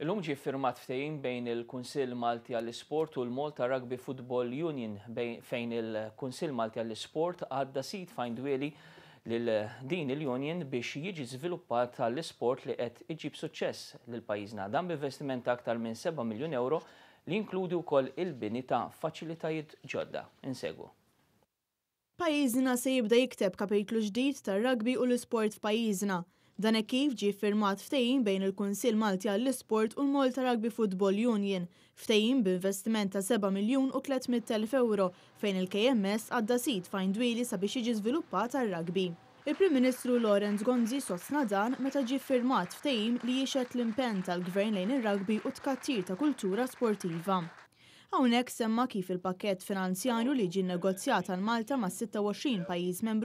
Illum ġie ffirmat ftehim bejn il-Kunsill Malti għall-Isport u l-Malta Rugby Football Union fejn il-Kunsill Malti għall-Isport għadda sit f'Għajn Dwieli lil din il-union biex jiġi żviluppat għall-isport li qed iġib suċċess lil pajjiżna. Dan b'investiment ta' aktar minn 7 miljun euro li jinkludi wkoll il-bini ta' faċilitajiet ġodda. Insegwu. Pajjiżna se jibda jikteb kapitlu ġdid tar-rugby u l-isport f'pajjiżna. Dan hekk kif ġie ffirmat ftehim bejn il-Kunsill Malti għall-Isport u l-Malta Rugby Football Union, ftehim b'investiment ta' 7 miljun u 300 elf ewro fejn il-KMS għadda sit f'Għajn Dwieli sabiex jiġi żviluppat għar-rugby. Il-Prim Ministru Lawrence Gonzi sostna dan meta ġie ffirmat ftehim li jixhed l-impenn tal-Gvern lejn ir-rugby u t-tkattir ta' kultura sportiva. Hawnhekk semma kif il-pakkett finanzjarju li ġie nnegozjat għal Malta mas-26 pajjiż membru